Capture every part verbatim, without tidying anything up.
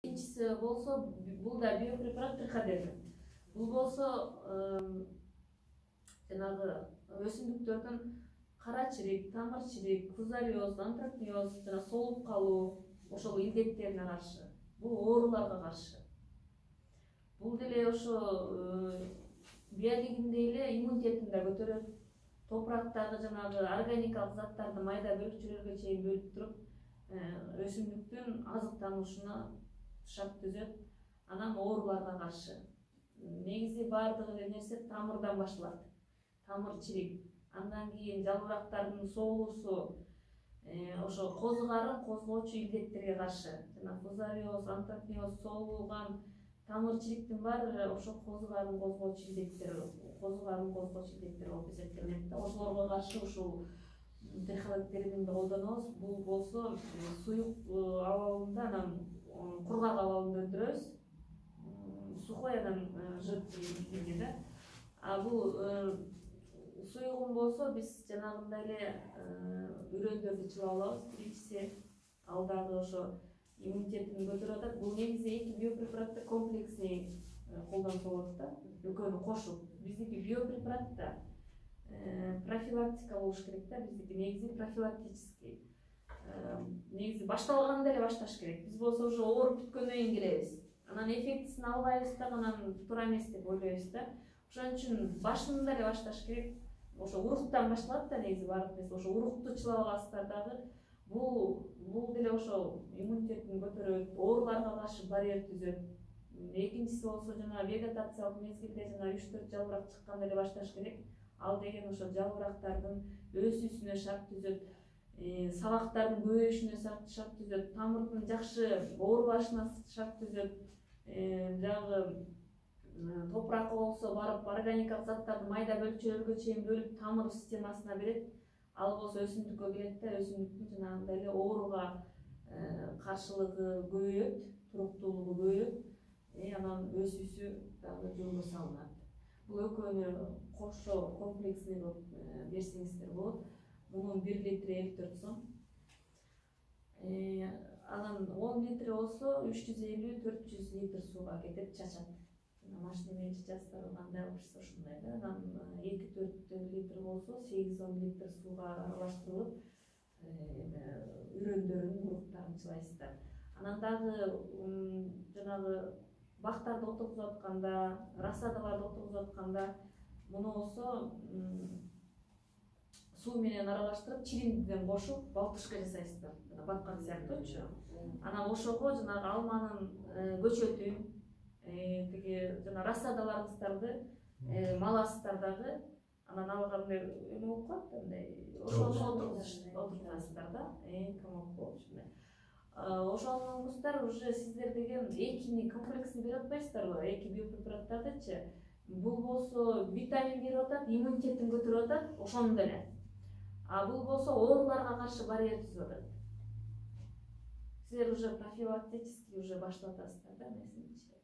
Экинчиси болсо бул да биопрепарат триходерм. Бул болсо жанагы өсүмдүктөрдүн кара чирик, тамыр чирик, фузариоз, антракноз жана солуп калуу ошол илдеттерине каршы, бул ооруларга каршы. Бул деле ошо биолигинде эле иммунитетин да көтөрөт. Топурактагы жанагы органикалык заттарды майда бөлүкчөлөргө чейин бөлүп туруп, өсүмдүктүн азыктанышына шарт түзөт. Анан ооруларга каршы. Негизи бардыгы эле нерсе тамырдан башталат. Тамыр чирик, андан кийин жалбырактардын соолуусу, ошо козгарын козгоочу илдеттерге каршы. Жана фузариоз, антракноз, соолуган тамыр чириктин баары ошо козгарын козгоочу илдеттер, козгарын козгоочу илдеттер болуп эсептелинет да. Ошолорго каршы ушул триходермди колдонобуз. Бул болсо суюк абалында, анан кургак абалында өндүрөбүз. Сухой анан жидкий да. А бул суюгун болсо биз жанагындай эле үрөндөрдү чылап алабыз. Биринчиси ал дагы ошо иммунитетин көтөрүп атат. Бул негизи эки биопрепаратты комплексный колдонсо болот да. Экөөнү кошуп. Биздики биопрепарат да профилактика болуш керек да. Биздики негизи профилактический. Негизи башталганда эле башташ керек. Биз болсо уже ооруп бүткөндөн кийин келебиз. Анан эффектисин албайбыз да, анан туура эмес деп ойлойбуз да. Ошон үчүн башында эле башташ керек. Ошо уруктан башталат да негизи баардык нерсе. Ошо урукту чылап аласыздар дагы. Бул бул деле ошо иммунитетин көтөрөт, ооруларга каршы барьер түзөт. Экинчиси болсо жана вегетациялык мезгилде жана үч төрт жалбырак чыкканда эле башташ керек. Ал деген ошо жалбырактардын өсүүсүнө шарт түзөт, сабактардын көбөйүшүнө шарт түзөт, тамырдын жакшы оорубашына шарт түзөт. Жагы топуракка болсо барып органикалык заттарды майда бөлүкчөлөргө чейин бөлүп тамыр системасына берет. Ал болсо өсүмдүккө келет да, өсүмдүктүн жанагындай эле ооруга каршылыгы көбөйөт, туруктуулугу көбөйөт. Анан өсүүсү дагы жолго салынат. Бул экөөнү кошо комплексный кылып берсеңиздер болот. Мунун бир литри элүү төрт сом. Анан он литри болсо үч жүз элүү төрт жүз литр сууга кетет, чачат. Машина менен чачасыздар, кандай алышса ошондой да. Анан эки төрт литр болсо сегиз он литр сууга аралаштырылып, үрөндөрүн, уруктарын чылайсыздар. Анан дагы жанагы бактарды отургузуп атканда, рассадаларды отургузуп атканда муну болсо суу менен аралаштырып, чириндиден кошуп, балтышка жасайсыздар. Баткан сыяктуучу. Анан ошого жанагы алманын көчөтүн, тиги жана рассадаларыңыздарды маласыздар дагы. Анан алга мындай эме болуп калат да, мындай ошону отургузасыздар да. Комок болуп ушундай. Ошондуңуздар уже сиздер деген экини комплексни берип атпайсыздарбы? Эки биопрепараттардычы. Бул болсо витамин берип атат, иммунитетин көтөрүп атат, ошондой эле. А бул болсо ооруларга каршы барьер түзүп атат. Сиздер уже профилактический уже баштап атасыздар да нерсеничи.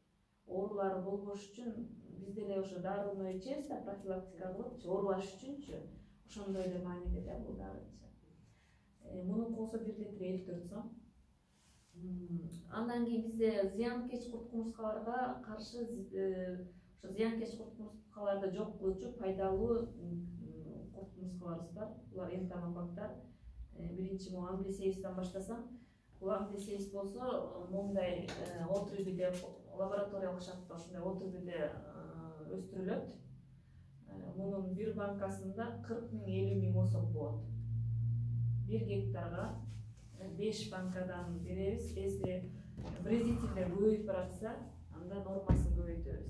Оорулар болбош үчүн биз деле ошо дарыны ичебиз да, профилактика кылыпчы, оорубаш үчүнчү. Ошондой эле мааниде да бул дагычы. Мунун болсо бир литри элүү төрт сом. Андан кийин бизде зыянкеч курт кумурскаларга каршы ошо зыянкеч курт кумурскаларды жок кылуучу пайдалуу курт кумурскаларыбыз бар. Булар энтомококтор. Биринчи могу амблисеюстан баштасам, бул амблисеюс болсо моундай отрубиде лабораториялык шартта ошондой отрубиде өстүрүлөт. Мунун бир банкасында кырк миң элүү миң осок болот. Бир гектарга беш банкадан беребиз. Если вредителдер көбөйүп баратса, анда нормасын көбөйтөбүз.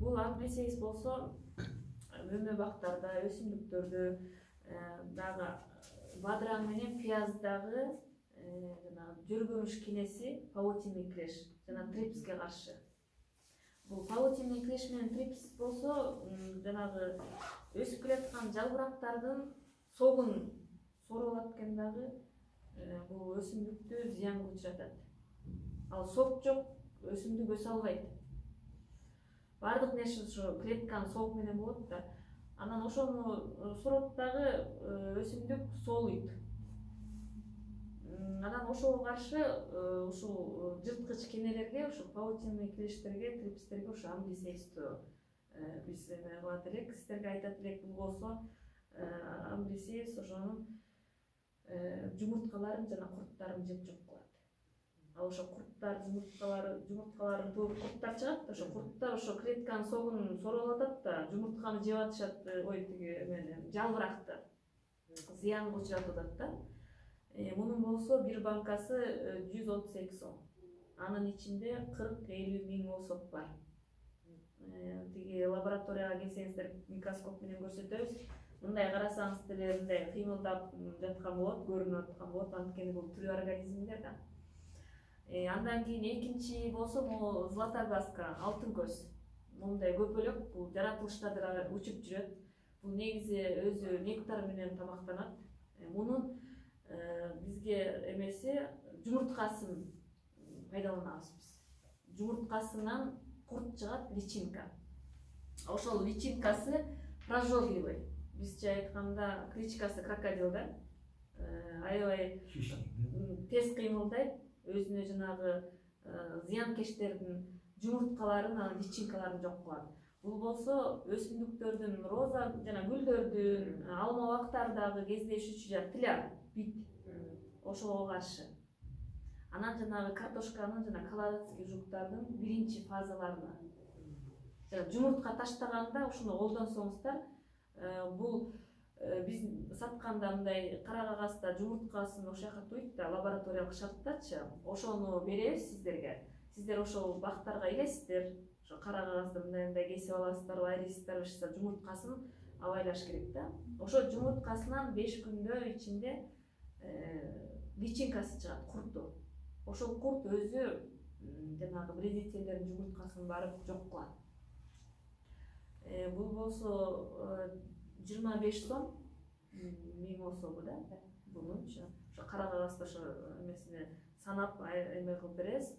Бул амблисеюс болсо өмө бактарда, өсүмдүктөрдө дагы бадыраң менен пияздагы жана жөргөмүш кинеси, паутинный клеш жана трипске каршы. Бул паутинный клеш менен трипс болсо жанагы өсүп келаткан жалбырактардын согун соруп алат экен дагы. Бул өсүмдүктү зыянга учуратат. Ал сок жок, өсүмдүк өсө албайт. Бардык нерсе ошо клетканын сок менен болот да. Анан ошону сурот дагы өсүмдүк соолуйт. анан ошого каршы ушул жырткыч кенелерге, ушул паутинный клештерге, трипстерге ошо амблисейстүү биз эме кылат элек, сиздерге айтат элек. Бул болсо амблисейс ошонун жумурткаларын жана курттарын жеп жок кылат. Ал ошо курттар, жумурткалары, жумурткаларын тууп курттар чыгат. Ошо курттар ошо клетканын согун сороп атат да, жумуртканы жеп атышат, ой тиги эмени, жалбыракты зыянга учуратып атат да. Мунун болсо бир банкасы жүз отуз эки сом. Анын ичинде кырк элүү миң оосот бар. Тиги лабораторияга келсеңиздер микроскоп менен көрсөтөбүз. Мындай карасаңыз деле мындай кыймылдап жаткан болот, көрүнүп аткан болот. Анткени бул тирүү организмдер да. Андан кийин экинчи болсо бул златоглазка, алтын көз. Мындай көпөлөк, бул жаратылыштадыр учуп жүрөт. Бул негизи өзү нектар менен тамактанат. Мунун бизге эмеси жумурткасын пайдаланабыз биз. Жумурткасынан курт чыгат, личинка. Ошол личинкасы прожорливый. Бизче айтканда кличкасы крокодил да. Аябай тез кыймылдайт, өзүнө жанагы зыянкечтердин жумурткаларын, анан личинкаларын жок кылат. Бул болсо өсүмдүктөрдүн, роза жана гүлдөрдүн, алма бактардагы кездешүүчү жана тиляр, бит ошого каршы. Анан жанагы картошканын жана колорадский жуктардын биринчи фазаларына жана жумуртка таштаганда ушуну колдонсоңуздар, бул биз сатканда мындай кара кагазда жумурткасын ошол жака туйт да, лабораториялык шарттачы, ошону беребиз сиздерге. Сиздер ошол бактарга илесиздер, ошо кара кагазды мындай мындай кесип аласыздар, айрыйсыздар, ошо жумурткасын абайлаш керек да. Ошо жумурткасынан беш күндө ичинде личинкасы чыгат, курту. Ошол курт өзү жанагы вредительдердин жумурткасын барып жок кылат. Бул болсо жыйырма беш сом миң оособу да. Бунунчу ошо кара кагазда ошо эмесине санап эме кылып беребиз.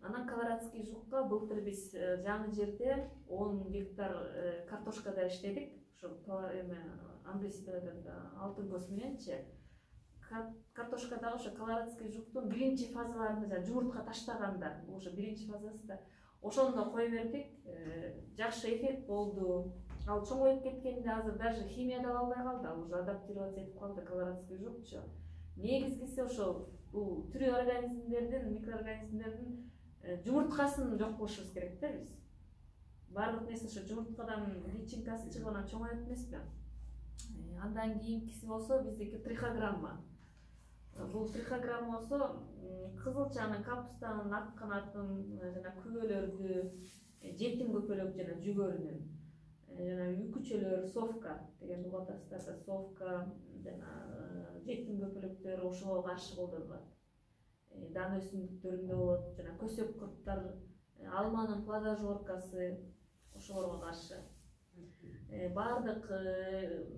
Анан колорадский жукка былтыр биз жаңы жерде он гектар картошкада иштедик. Ошо эме амблисийда алтын көз мененчи. Картошкадагы ошо колорадский жуктун биринчи фазаларында жана жумуртка таштаганда, ошо биринчи фазасы да, ошондо кой бердик. Жакшы эффект болду. Ал чоңоюп кеткенде азыр даже химия да албай калды, ал уже адаптироваться этип калды колорадский жукчу. Негизгиси ошол бул тирүү организмдердин, микроорганизмдердин жумурткасын жок кылышыбыз керек да биз. Баардык нерсе ошо жумурткадан личинкасы чыгып анан чоңоюп эмеспи? Андан кийинкиси болсо биздики трихограмма. Бул трихограмма болсо кызылчанын, капустанын, ак канатын жана күбөлөрдү, жетим көпөлөк жана жүгөрүнүн жана үкүчөлөр, совка деген угуп атасыздар да, совка жана жетим көпөлөктөр ошого каршы колдонулат. Дан өсүмдүктөрүндө болот, жана көсөк курттар, алманын плодожоркасы ошолорго каршы. Баардык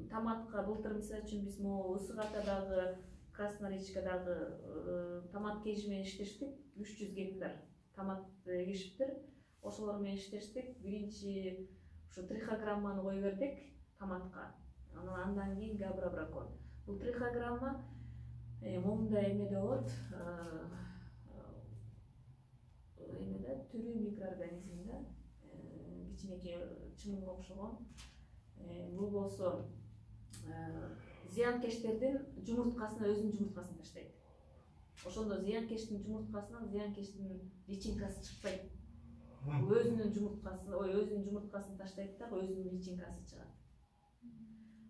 томатка былтыр мисалы үчүн биз могу ысык атадагы, Красноречкадагы томат кежи менен иштештик, үч жүз гектар томат эгишиптир. Ошолор менен иштештик. Биринчи ушу трихограмманы кой бердик томатка. Андан кийин габрабракон. Бул трихограмма момундай эмеде болот. Эмеде түрүү микроорганизмде кичинекей чымылга окшогон. Бул болсо зыянкечтердин жумурткасын, өзүнүн жумурткасын таштайт. Ошондо зыянкечтин жумурткасынан зыянкечтин личинкасы чыкпайт. Бул өзүнүн жумурткасын, ой, өзүнүн жумурткасын таштайт да, өзүнүн личинкасы чыгат.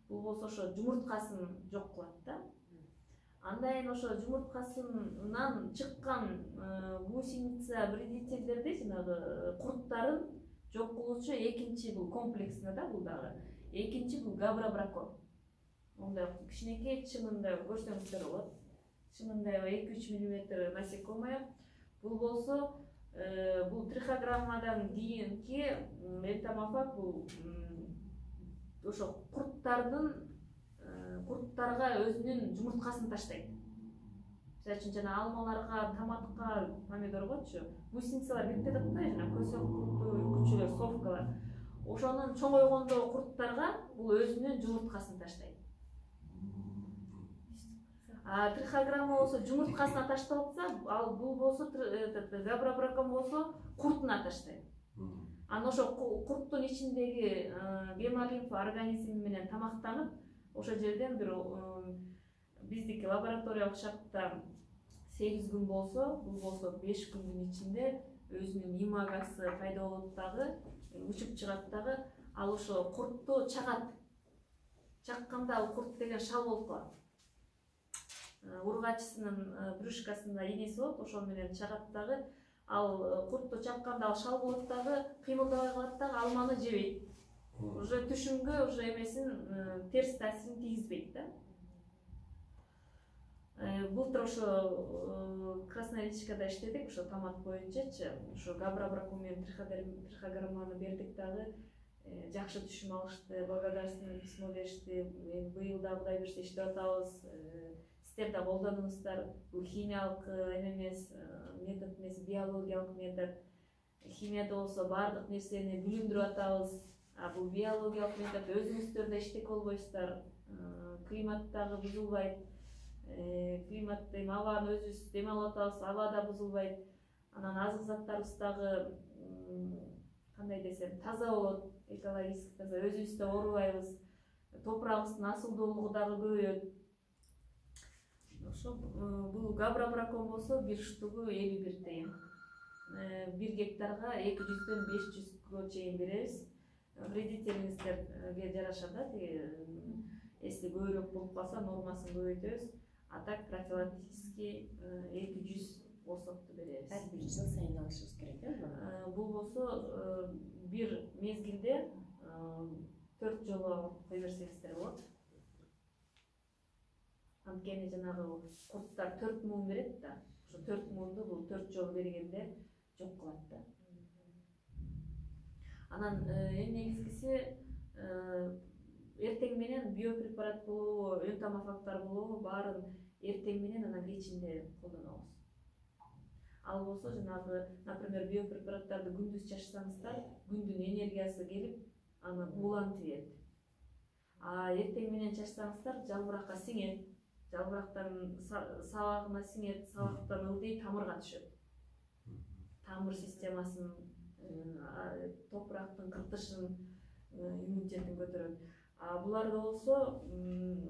Бул болсо ошо жумурткасын жок кылат да. Андан кийин ошо жумурткасынан чыккан гусеница вредительдерди, жанагы курттарын жок кылуучу экинчи бул комплексында да, бул дагы. Экинчи бул габрабракон. Мындай кичинекей чымындай көрсөңүздөр болот. Чымындай эки үч миллиметр насекомое. Бул болсо бул трихограммадан кийинки энтомофаг, бул ошо курттардын курттарга өзүнүн жумурткасын таштайт. Мисалы үчүн жана алмаларга, томатка, помидоргочу гусеницалар кирип жатат да, жана көсөк курту, үкүчөлөр, совкалар. Ошонун чоңойгондо курттарга бул өзүнүн жумурткасын таштайт. А трихограмма болсо жумурткасына ташталып атса, ал бул болсо габрабракон болсо куртуна таштайт. Анан ошо курттун ичиндеги гемолимфа организм менен тамактанып, ошол жерден бир биздики лабораториялык шартта сегиз күн болсо, бул болсо беш күндүн ичинде өзүнүн имагасы пайда болот дагы, учуп чыгат дагы, ал ошо куртту чагат. Чакканда ал курт деген шал болуп калат. Ургачысынын брюшкасында инеси болот, ошол менен чагат дагы. Ал куртту чакканда ал шал болот дагы, кыймылдабай калат дагы, алманы жебейт. Уже түшүмгө уже эмесин терс таасирин тийгизбейт да. Былтыр ошо Красноярскада иштедик, ошо томат боюнчачы, ошо габрабракон менен трихограмманы бердик дагы, жакшы түшүм алышты, благодарственный письмо беришти. Быйыл да Кудай берсе иштеп атабыз. Сиздер да колдонуңуздар. Бул химиялык эмес, метод эмес, биологиялык метод. Химияда болсо баардык нерсени бүлүндүрүп атабыз. А бул биологиялык метод, өзүңүздөр да иштеп болбойсуздар. Климат дагы бузулбайт. Климат эми абаны өзүбүз дем алып атабыз, аба да бузулбайт. Анан азык заттарыбыз дагы кандай десем, таза болот, экологически таза, өзүбүз да оорубайбыз. Топурагыбыздын асылдуулугу дагы көбөйөт. Ошо бул габрабракон болсо бир штугу элүү бир тыйын. Бир гектарга эки жүздөн беш жүзгө чейин беребиз. Вредителиңиздерге жараша да, если көбүрөөк болуп калса нормасын көбөйтөбүз. А так профилактически эки жүз осокту беребиз. Ар бир жыл сайын алышыбыз керек, э? Бул болсо бир мезгилде төрт жолу кой берсеңиздер болот. Анткени жанагы курттар төрт муун берет да. Ошо төрт муунду бул төрт жолу бергенде жок кылат да. Анан эң негизгиси эртең менен биопрепарат болобу, энтомофагтар болобу, баарын эртең менен анан кечинде колдонобуз. Ал болсо жанагы, например, биопрепараттарды күндүз чачсаңыздар, күндүн энергиясы келип, аны буулантып берет. А эртең менен чачсаңыздар, жалбыракка сиңет, жалбырактан сабагына сиңет, сабактан ылдый тамырга түшөт. Тамыр системасын, топурактын кыртышын, иммунитетин көтөрөт. А буларда болсо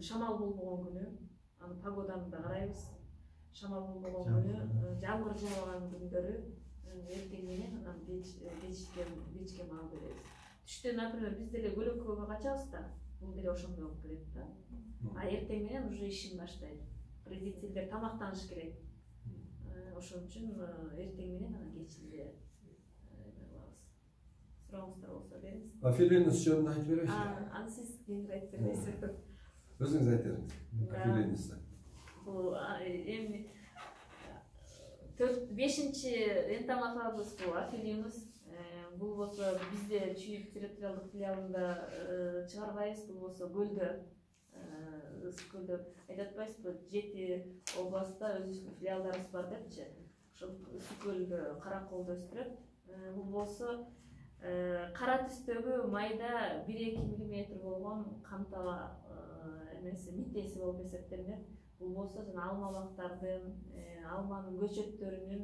шамал болбогон күнү, аны погоданы да карайбыз. Шамал болбогон күнү, жамгыр жаабаган күндөрү эртең менен анан кечке маал беребиз. Түштө, например, биз деле көлөккөгө качабыз да, бул деле ошондой болуп келет да. А эртең менен уже ишин баштайт. Вредителдер тамактаныш керек. Ошон үчүн эртең менен анан кечинде кылабыз. Сурооңуздар болсо бериңиз. Афилинус жөнүндө айтып берейинчи. Аны сиз кийинирээк айтып бересиз. Өзүңүз айтып бериңиз. Афилинус. Бул эми төрт бешинчи энтомофагыбыз бул Афилинус. Бул болсо бизде Чүйүк территориалдык филиалында чыгарбайбыз, бул болсо көлдө, ысык көлдө айтып атпайсызбы, жети областта өзүбүздүн филиалдарыбыз бар депчи. Ошол ысык көлдө, Караколдо өстүрөт. Бул болсо кара түстөгү майда бир эки миллиметр болгон камтала эмеси, митеси болуп эсептелинет. Бул болсо жана алма бактардын, алманын көчөттөрүнүн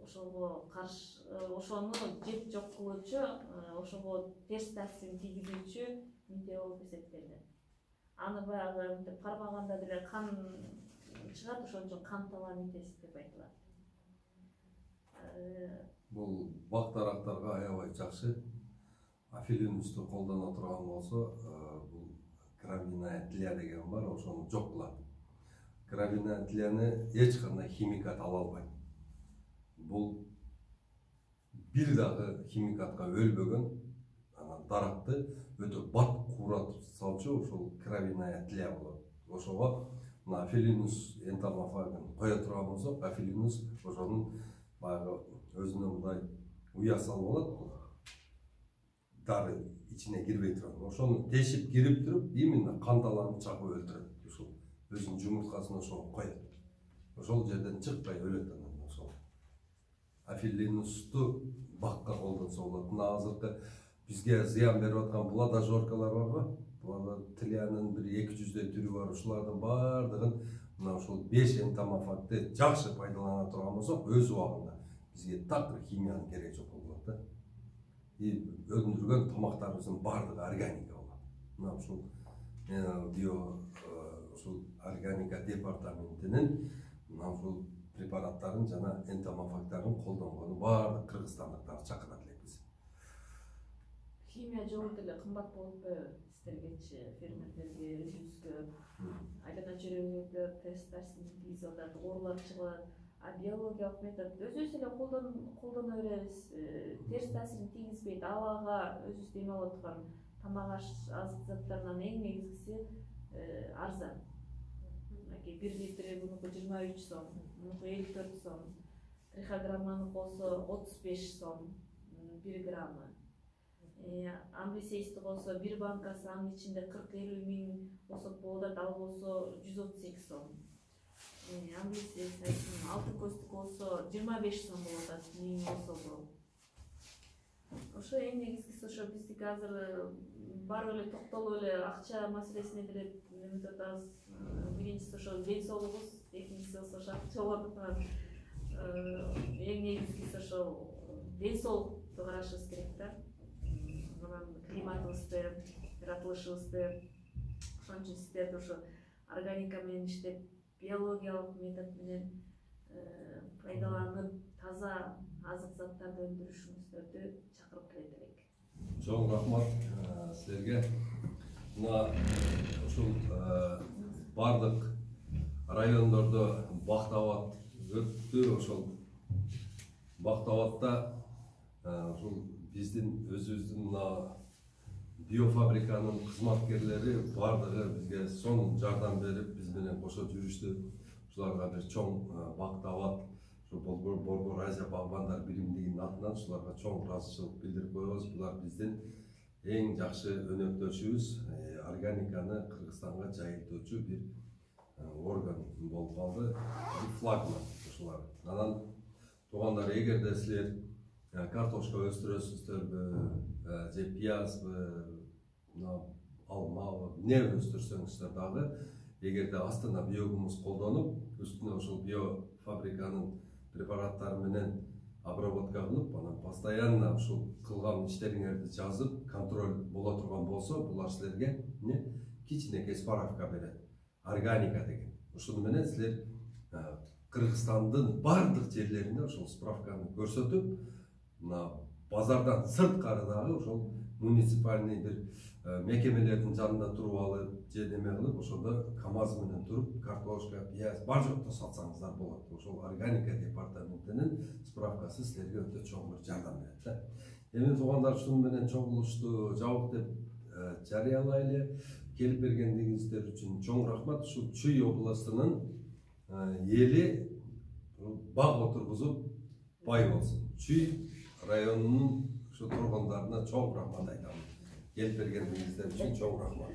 ошого каршы, ошону жеп жок кылуучу, ошого терс таасирин тийгизүүчү мите болуп эсептелинет. Аны баягы мынтип кармаганда деле кан чыгат, ошон үчүн камтала митеси деп айтылат. Бул бак дарактарга аябай жакшы. Афилинусту колдоно турган болсо, бул граминая тлия деген бар, ошону жок кылат. Граминая тлияны эч кандай химикат ала албайт. Бул бир дагы химикатка өлбөгөн, анан даракты өтө бат кууратып салчу ошол граминая тлия болот. Ошого мына Афилинус энтомофагын кое турган болсок, Афилинус ошонун баягы өзүнө мындай уя салып алат. Дары ичине кирбей турган. Ошону тешип кирип туруп, именно канталаны чагып өлтүрөт. Ошол өзүнүн жумурткасын ошого коет. Ошол жерден чыкпай өлөт анан ошол. Афилинусту бакка колдонсо болот. Мына азыркы бизге зыян берип аткан плодожоркалар барбы? тилянын бир эки жүздөй түрү бар. Ушулардын баардыгын мына ушул беш энтомофагты жакшы пайдалана турган болсок, өз убагында бизге так химиянын кереги жок болот да. И өндүргөн тамактарыбыздын баардыгы органика болот. Мына ушул био ушул органика департаментинин мына ушул препараттарын жана энтомофагтарын колдонгону баардык кыргызстандыктарды чакырат элекпиз. Химия жолу деле кымбат болуп атпайбы сиздергечи, фермерлерге, өзүбүзгө? Айлана жүрөгүндө тесттер синтез атат, оорулар чыгат. А биологиялык метод өзүбүз эле колдоно беребиз. Терс таасирин тийгизбейт. Абага өзүбүз эме болуп аткан тамак азык заттарынан эң негизгиси арзан. бир литри мунуку жыйырма үч сом, мунуку элүү төрт сом. Трихограмманыкы болсо отуз беш сом бир граммы. Амблисейсти болсо бир банкасы анын ичинде кырк элүү миң болсо болот, ал болсо жүз отуз эки сом. Амблисейстин алтын көздүк болсо жыйырма беш сом болуп атат, миң болсо. Ошо эң негизгиси ошо биздики азыр барып эле токтолуп эле акча маселесине деле неметип атабыз. Биринчиси ошо ден соолугубуз, экинчиси ошо акча болуп атат. Эң негизгиси ошо ден соолукту карашыбыз керек да. Мына климатыбызды, жаратылышыбызды, ошон үчүн сиздерди ошо органика менен иштеп, биологиялык метод менен пайдаланып, таза азык заттарды өндүрүшүңүздөрдү чакырып келет элек. Чоң рахмат силерге. Мына ушул бардык райондордо бактабат өттү. Ошол бактабатта ушул биздин өзүбүздүн мына биофабриканын кызматкерлери бардыгы бизге сонун жардам берип, биз менен кошо жүрүштү. Ушуларга бир чоң бактабат, ошо Борбор Азия багбандар биримдигинин атынан ушуларга чоң ыраазычылык билдирип коебуз. Булар биздин эң жакшы өнөктөшүбүз, органиканы Кыргызстанга жайылтуучу бир орган болуп калды, флагман ушулар. Анан туугандар, эгерде силер картошка өстүрөсүздөрбү, же пиязбы, алмабы, эмне өстүрсөңүздөр дагы, эгерде астына биогумус колдонуп, үстүнө ошол биофабриканын препараттары менен обработка кылып, анан постоянно ушул кылган иштериңерди жазып, контроль боло турган болсо, булар силерге эмне кичинекей справка берет. Органика деген. Ушуну менен силер Кыргызстандын бардык жерлеринде ошол справканы көрсөтүп, мына базардан сырткары дагы ошол муниципальный бир мекемелердин жанында туруп алып, же неме кылып, ошондо КамАЗ менен туруп, картошка, пияз бар жокто сатсаңыздар болот. Ошол органика департаментинин справкасы силерге өтө чоң бир жардам берет да. Эми туугандар, ушуну менен чогулушту жабык деп жарыялайлы. Келип бергендигиңиздер үчүн чоң рахмат. Ушул Чүй областынын эли баг отургузуп бай болсун. Чүй районунун ушу тургундарына чоң рахмат айтам. Келип бергендигиңиздер үчүн чоң рахмат.